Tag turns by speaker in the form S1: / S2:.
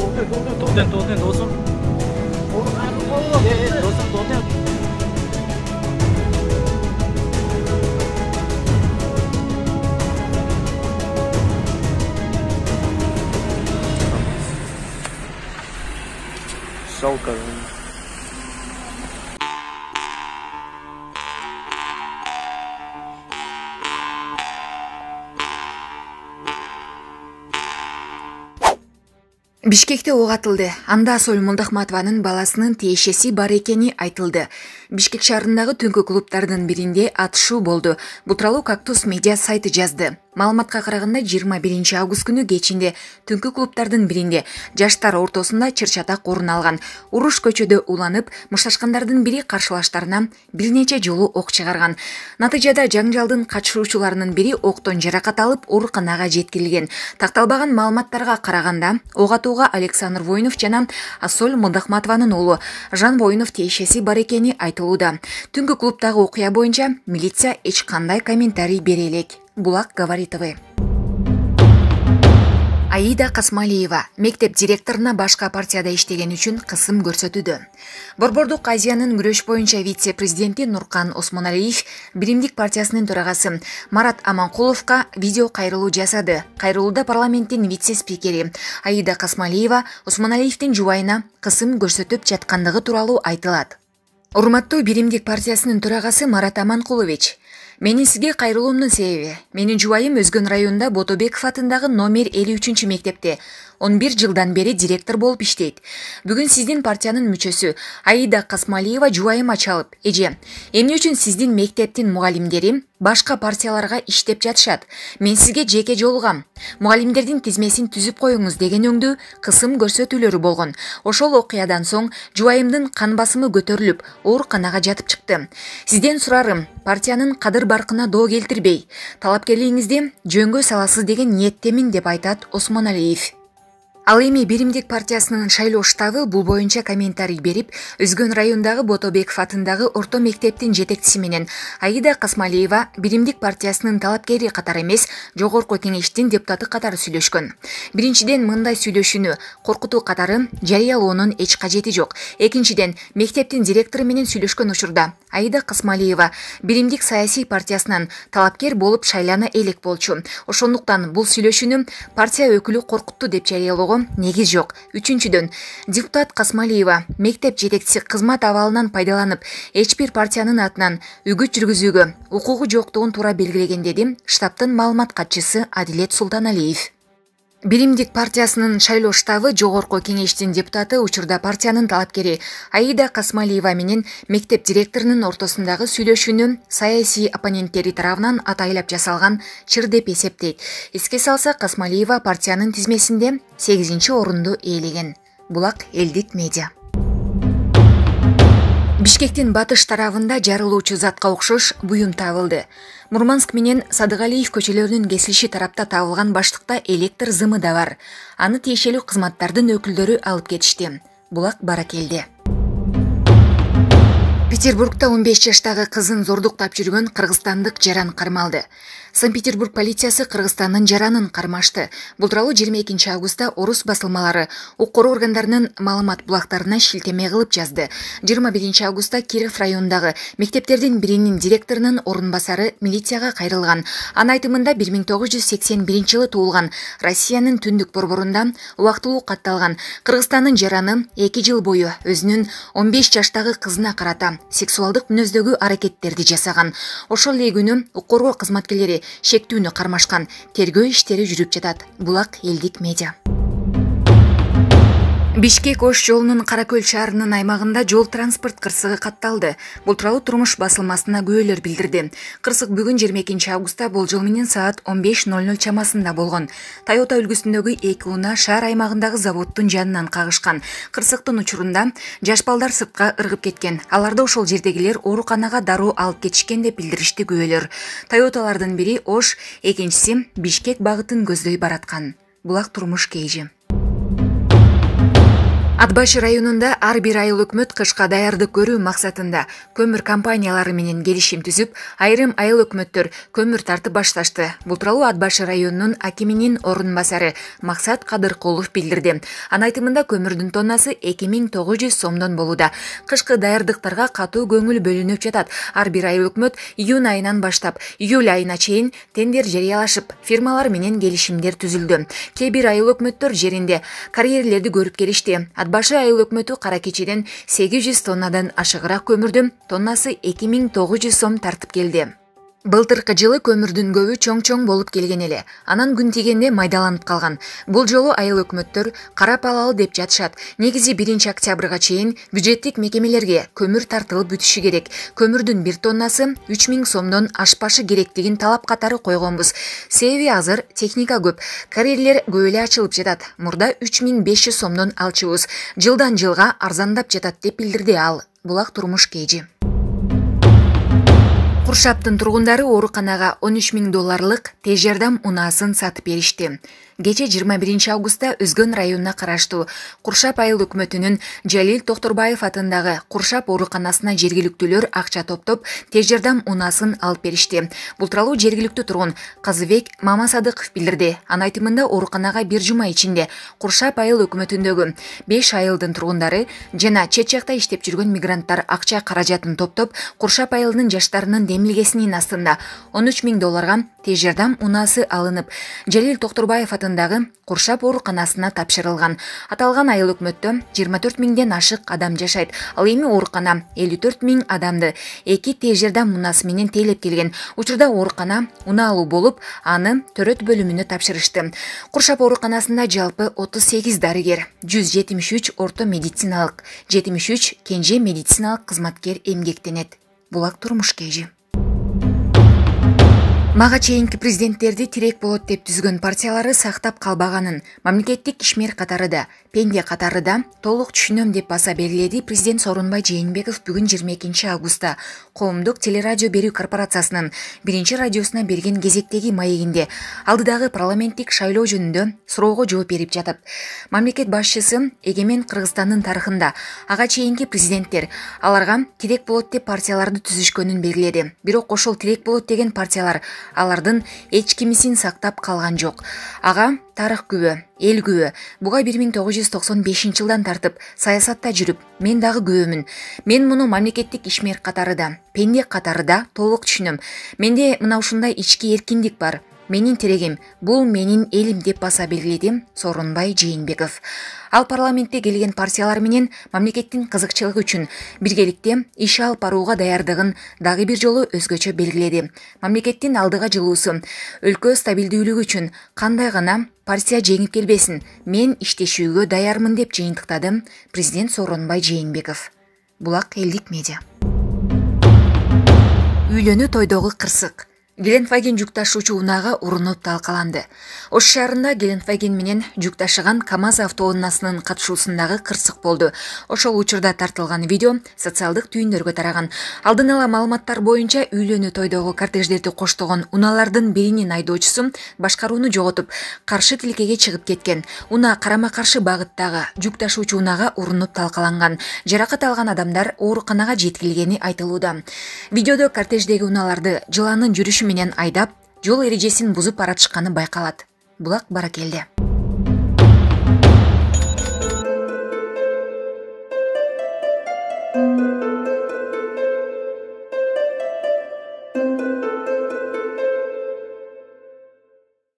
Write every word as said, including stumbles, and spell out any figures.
S1: Toten, toten, dostum. Dostum, toten. Жалко.
S2: Бишкекте ок атылды. Анда Асол Молдохматованын баласынын тиешеси бар экени айтылды. Бишкек шаарындагы түнкү клубтардын биринде атышуу болду. Бул тууралуу Кактус медиа сайты жазды. Маалыматка караганда жыйырма биринчи август күнү кечинде түнкү клубтардын биринде жаштар ортосунда чыр-чатак орун алган. Уруш көчөдө уланып, мушташкандардын бири каршылаштарына бир нече жолу ок чыгарган. Натыйжада жаңжалдын катышуучуларынын бири октон жаракат алып ооруканага жеткирилген. Такталбаган маалыматтарга караганда, ок атууга Александр Воинов жана Асол Молдохматованын уулу Жан Воинов тиешеси бар экени айтылууда. Түнкү клубдагы окуя боюнча милиция эч кандай комментарий бере элек. Булак говорит ТВ. Аида Касмалиева мектеп директоруна башка партияда иштеген үчүн кысым көрсөтүүдө. Борбордук Азиянын күрөш боюнча вице-президенти Нуркан Осмоналиев Биримдик партиясынын төрагасы Марат Аманкуловго видео кайрылуу жасады. Кайрылууда парламенттин вице-спикери Аида Касмалиева Осмоналиевдин жубайына кысым көрсөтүп жаткандыгы тууралуу айтылат. Урматтуу Биримдик партиясынын төрагасы Марат Аманкулович, менин сизге кайрылуумдун себеби, менин жубайым Өзгөн районунда Ботобеков атындагы номер элүү үчүнчү мектепте он бир жылдан бери директор болуп иштейт. Бүгүн сиздин партиянын мүчөсү Аида Касмалиева жубайыма чалып, эже, эмне үчүн сиздин мектептин мугалимдери башка партияларга иштеп жатышат? Мен сизге жеке жолугам. Мугалимдердин тизмесин түзүп коюңуз деген өңдүү кысым көрсөтүүлөрү болгон. Ошол окуядан соң жубайымдын кан басымы көтөрүлүп, ооруканага жатып чыкты. Сизден сурарым, партиянын кадыр баркына доо келтирбей, талапкерлигиңизди жөнгө саласыз деген ниеттемин деп айтат Осмоналиев. Ал эми Биримдик партиясынын шайлоо штабы бул боюнча комментарий берип, Өзгөн районундагы Ботобеков атындагы орто мектептин жетекчиси менен Аида Касмалиева Биримдик партиясынын талапкери катары эмес, жогорку кеңештин депутаты катары сүйлөшкөн. Биринчиден, мындай сүйлөшүүнү коркутуу катары жарыялоонун эч кажети жок. Экинчиден, мектептин директору менен сүйлөшкөн учурда Аида Касмалиева Биримдик саясий партиясынан талапкер болуп шайлана элек болчу. Ошондуктан бул сүйлөшүүнү партия өкүлү коркутту деп жарыялоого негиз жок. Үчүнчүдөн, депутат Касмалиева мектеп жетекчиси кызмат абалынан пайдаланып, эч бир партиянын атынан үгүт жүргүзүүгө укугу жоктугун туура белгилеген, деди штабтын маалымат катчысы Адилет Султаналиев. Биримдик партиясынын шайлоо штабы жогорку кеңештин депутаты учурда партиянын талапкери Аида Касмалиева менен мектеп директорунун ортосундагы сүйлөшүүнү саясий оппоненттери тарабынан атайлап жасалган чыр деп эсептейт. Эске салсак, Касмалиева партиянын тизмесинде сегизинчи орунду ээлеген. Булак элдик медиа. Бишкектин батыш тарабында жарылуучу затка окшош буюм табылды. Мурманск менен Садыгалиев көчөлөрүнүн кесилиши тарапта табылган баштыкта электр зымы да бар. Аны тиешелүү кызматтардын өкүлдөрү алып кетишти. Булак баракелде. Петербургда он беш жаштагы кызын зордуктап жүргөн кыргызстандык жаран кармалды. Санкт-Петербург полициясы Кыргызстандын жаранын кармашты. Бул тууралуу жыйырма экинчи августта орус басылмалары укук органдарынын маалымат булактарына шилтеме кылып жазды. жыйырма биринчи августта Киров районундагы мектептердин биринин директорунун орун басары милицияга кайрылган. Анын айтымында бир миң тогуз жүз сексен биринчи жылы туулган, Россиянын түндүк борборунда убактылуу катталган Кыргызстандын жараны эки жыл бою өзүнүн он беш жаштагы кызына карата сексуалдык мүнөздөгү аракеттерди жасаган. Ошол эле күнү укук коргоо кызматкерлери шектүүнү кармашкан. Тергөө иштери жүрүп жатат. Булак элдик медиа. Бишкек Ош жолунун Каракөл шаарынын аймагында жол транспорт кырсыгы катталды. Бул тууралуу Турмуш басылмасына күбөлөр билдирди. Кырсык бүгүн жыйырма экинчи августта болжол менен саат он беш ноль ноль чамасында болгон. Toyota үлгүсүндөгү эки унаа шаар аймагындагы заводдун жанынан кагышкан. Кырсыктын учурунда жаш балдар сыртка ыргып кеткен. Аларды ошол жердегилер ооруканага дароо алып кетишкен деп билдиришти күбөлөр. Toyotалардын бири Ош, экинчиси Бишкек багытын көздөй бараткан. Булак турмуш кейжи. Ат башы районунда ар бир айыл өкмөт кышка даярдык көрүү максатында көмүр компаниялары менен келишим түзүп, айрым айыл өкмөттөр көмүр тартып башташты. Бул тууралуу Ат башы районунун акиминин орун басары Максат Кадыркулов билдирди. Анын айтымында көмүрдүн тоннасы эки миң тогуз жүз сомдон болууда. Кышкы даярдыктарга катуу көңүл бөлүнүп жатат. Ар бир айыл өкмөт июнь айынан баштап июль айына чейин тендер жарыялашып, фирмалар менен келишимдер түзүлдү. Кээ бир айыл өкмөттөр жеринде карьерлерди көрүп келишти. Ат башы айыл өкмөтү кара кечеден сегиз жүз тоннадан ашыгыраак көмүрдүн тоннасы эки миң тогуз жүз сом тартып келди. Былтыркы жылы көмүрдүн көбү чоң-чоң болуп келген эле. Анан күн тигенде майдаланып калган. Бул жолу айыл өкмөттөр карап алалы деп жатышат. Негизи биринчи октябрга чейин бюджеттик мекемелерге көмүр тартылып бүтүшү керек. Көмүрдүн бир тоннасы үч миң сомдон ашпашы керектигин талап катары койгонбуз. Себеби азыр техника көп, карьерлер көп эле ачылып жатат. Мурда үч миң беш жүз сомдон алчубуз. Жылдан жылга арзандап жатат деп билдирди ал. Булак турмуш кежи. Куршаптын тургундары ооруканага он үч миң долларлык тез жардам унаасын сатып беришти. Кече жыйырма биринчи августта Өзгөн районуна караштуу Куршап айыл өкмөтүнүн Жалил Токторбаев атындагы Куршап ооруканасына жергиликтүүлөр акча топтоп, тез жардам унаасын алып беришти. Бул тууралуу жергиликтүү тургун Казыбек Мамасадыков билдирди. Анын айтымында ооруканага бир жума ичинде Куршап айыл өкмөтүндөгү беш айылдын тургундары жана чет жакта иштеп жүргөн мигранттар акча каражатын топтоп, Куршап айылынын жаштарынын демилгесинин астында он үч миң долларга тез жардам унаасы алынып, Жалил Токторбаев атындагы Куршап ооруканасына тапшырылган. Аталган айыл өкмөттө жыйырма төрт миңден ашык адам жашайт. Ал эми оорукана элүү төрт миң адамды эки тез жардам унаасы менен тейлеп келген. Учурда оорукана унаалуу болуп, аны төрөт бөлүмүнө тапшырышты. Куршап ооруканасында жалпы отуз сегиз дарыгер, жүз жетимиш үч орто медициналык, жетимиш үч кенже медициналык кызматкер эмгектенет. Булак турмуш кежи. Мага чейинки президенттерди тирек болот деп түзгөн партиялары сактап калбаганын, мамлекеттик ишмер катарыда, пенде катарыда толук түшүнөм деп баса белгиледи президент Сооронбай Жээнбеков бүгүн жыйырма экинчи августта Коомдук телерадио берүү корпорациясынын биринчи радиосуна берген кезектеги маегинде алдыдагы парламенттик шайлоо жөнүндө суроого жооп берип жатып. Мамлекет башчысы эгемен Кыргызстандын тарыхында ага чейинки президенттер аларга тирек болот деп партияларды түзүшкөнүн белгиледи. Бирок ошол тирек болот деген партиялар алардын эч кимисин сактап калган жок. Ага тарых күбө, эл күбө. Буга бир миң тогуз жүз токсон бешинчи жылдан тартып саясатта жүрүп, мен дагы күбөмүн. Мен муну мамлекеттик ишмер катарыда, пенде катарыда толук түшүнөм. Менде мына ушундай ички эркиндик бар. Менин терегим, бул менин элим деп баса белгиледи Сооронбай Жээнбеков. Ал парламентте келген партиялар менен мамлекеттин кызыкчылыгы үчүн биргеликте иш алып барууга даярдыгын дагы бир жолу өзгөчө белгиледи. Мамлекеттин алдыга жылуусу, өлкө стабилдүүлүгү үчүн кандай гана партия жеңип келбесин, мен иштешүүгө даярмын деп жыйынтыктады президент Сооронбай Жээнбеков. Булак элдик медиа. Үйлөнүү тойдогу кырсык. Гелендваген жүк ташуучу унаага урунуп талкаланды. Ош шаарында Гелендваген менен жүк ташыган КамАЗ автоунаасынын катышуусундагы кырсык болду. Ошол учурда тартылган видео социалдык түйүндөргө тараган. Алдын ала маалыматтар боюнча үйлөнүү тойдогу кортеждерди коштогон унаалардын биринин айдоочусу башкарууну жоготуп, каршы тилкеге чыгып кеткен. Унаа карама-каршы багыттагы жүк ташуучу унаага урунуп талкаланган. Жаракат алган адамдар ооруканага жеткирилгени айтылууда. Видеодо кортеждеги унааларды жылаанын жүрүшү менен айдап, жол эрежесин бузуп баратышканы байкалат. Булак баракелде.